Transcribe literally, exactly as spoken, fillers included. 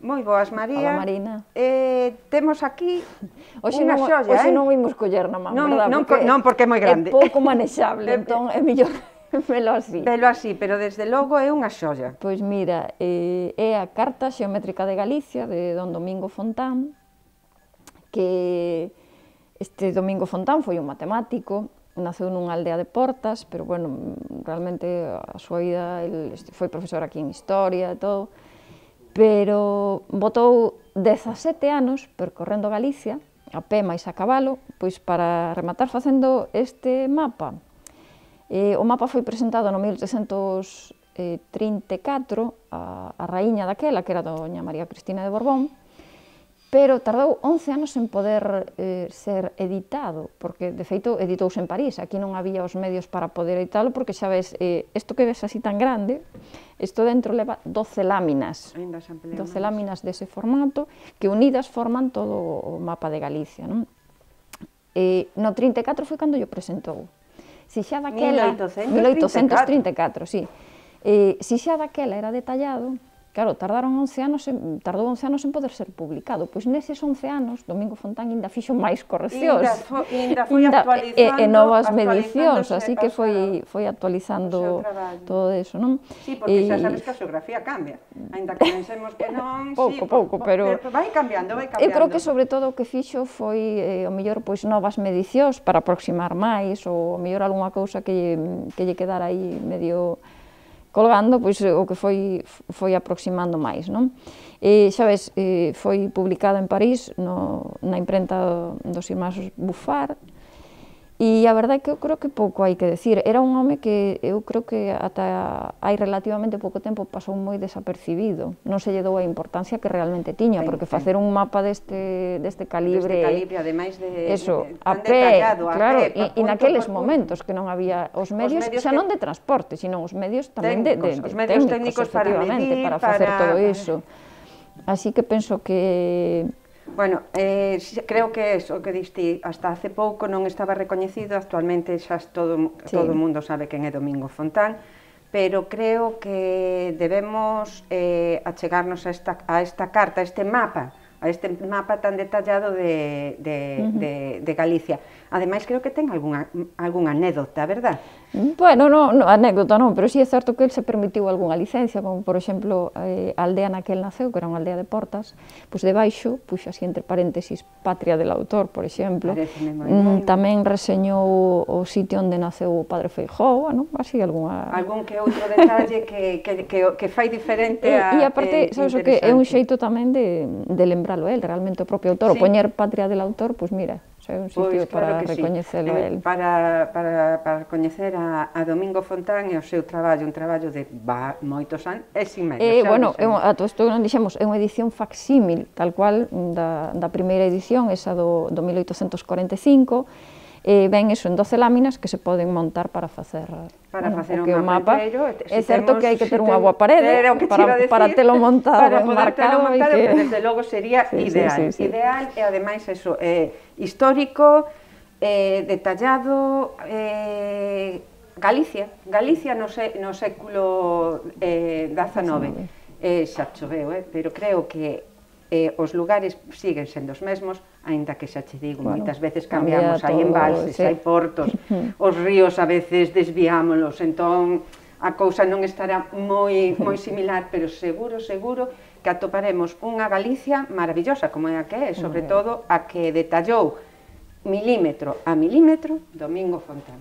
Moi boas, María. Hola, Marina. Eh, temos aquí unha xolla, Hoxe eh? non imos coller na man, non, verdad? Non, porque non, porque é moi grande. É pouco manexable, entón é mellor velo así. Velo así, pero desde logo é unha xolla. Pois mira, eh, é a Carta Xeométrica de Galicia, de don Domingo Fontán, que este Domingo Fontán foi un matemático, naceu nunha aldea de Portas, pero, bueno, realmente a súa vida, el foi profesor aquí en Historia e todo, pero botou dezasete anos percorrendo Galicia, a pé máis a cabalo, pois para rematar facendo este mapa. Eh, o mapa foi presentado no mil oitocentos trinta e catro a, a raíña daquela, que era doña María Cristina de Borbón, pero tardou once anos en poder eh, ser editado, porque, de feito, editouse en París. Aquí non había os medios para poder editalo, porque, xa ves, eh, isto que ves así tan grande, isto dentro leva doce láminas, doce láminas dese formato, que unidas forman todo o mapa de Galicia, non? Eh, no trinta e catro foi cando yo presentou. Si xa daquela... mil oitocentos trinta e mil oitocentos trinta e catro, catro. sí. Eh, si xa daquela era detallado, claro, tardaron once anos, en, tardou once anos en poder ser publicado, pois neses once anos Domingo Fontán ainda fixo máis correccións, ainda foi actualizando, e, e novas medicións, así que foi, foi actualizando todo eso, non? Sí, porque xa sabes que a xeografía cambia, ainda que pensemos que non, pouco, pouco, pero vai cambiando, vai cambiando. Eu creo que sobre todo o que fixo foi, eh, o mellor, pois novas medicións para aproximar máis, ou o mellor algunha cousa que, que lle quedara aí medio colgando, pois o que foi foi aproximando máis, non? E, xa ves, eh, foi publicada en París no, na imprenta dos irmáns Buffar, e a verdade é que eu creo que pouco hai que decir. Era un home que eu creo que ata hai relativamente pouco tempo pasou moi desapercibido, non se lle dou a importancia que realmente tiña, porque facer un mapa deste, deste calibre, deste calibre, ademais de, eso, de, de a tan pé, detallado, a claro, pé, e, e naqueles punto, momentos que non había os medios, medios xa que... non de transporte, sino os medios tamén técnicos, de, de, os medios técnicos, técnicos para medir, para facer para... todo iso. Así que penso que... Bueno, eh, creo que eso que diste hasta hace pouco non estaba recoñecido, actualmente xa todo, sí. todo o mundo sabe quen é Domingo Fontán, pero creo que debemos eh, achegarnos a esta, a esta carta, a este mapa, a este mapa tan detallado de, de, uh-huh. de, de Galicia. Ademais, creo que ten algunha, algunha anécdota, verdad? Bueno, no, no, anécdota non, pero sí é certo que el se permitiu algunha licencia, como, por exemplo, eh, a aldea na que el naceu, que era unha aldea de Portas, pois debaixo, puxo así entre paréntesis, Patria del Autor, por exemplo. Mm, tamén reseñou o sitio onde naceu o padre Feijóo, bueno, así algunha... Algún que outro detalle que, que, que, que fai diferente a... E, e aparte, eh, sabes o que, é un xeito tamén de, de lembralo el, realmente o propio autor, sí. O poñer Patria del Autor, pois mira, é un sitio pues, claro para recoñecelo sí. el. Para, para, para coñecer a, a Domingo Fontán e o seu traballo, un traballo de va, moitos anos, é sin medio. Eh, bueno, é un, a todo isto non dixemos, é unha edición facsímil, tal cual, da, da primeira edición, esa do, do mil oitocentos corenta e cinco, e ven eso en doce láminas que se poden montar para facer para bueno, facer un mapa. mapa. Si é certo temos, que hai que ter si unha boa parede para, decir, para telo montado, para marcado, montado, que... pero desde logo sería sí, ideal. Sí, sí, sí. Ideal e ademais eso, eh, histórico, eh, detallado, eh, Galicia, Galicia no, se, no século eh, dezanove, eh, xa choveu, eh, pero creo que eh, os lugares siguen sendo os mesmos, aínda que xa che digo, bueno, moitas veces cambiamos, hai embalses, sí. Hai portos, os ríos a veces desviámolos, entón a cousa non estará moi, moi similar, pero seguro, seguro que atoparemos unha Galicia maravillosa, como é a que é, sobre todo a que detallou milímetro a milímetro Domingo Fontán.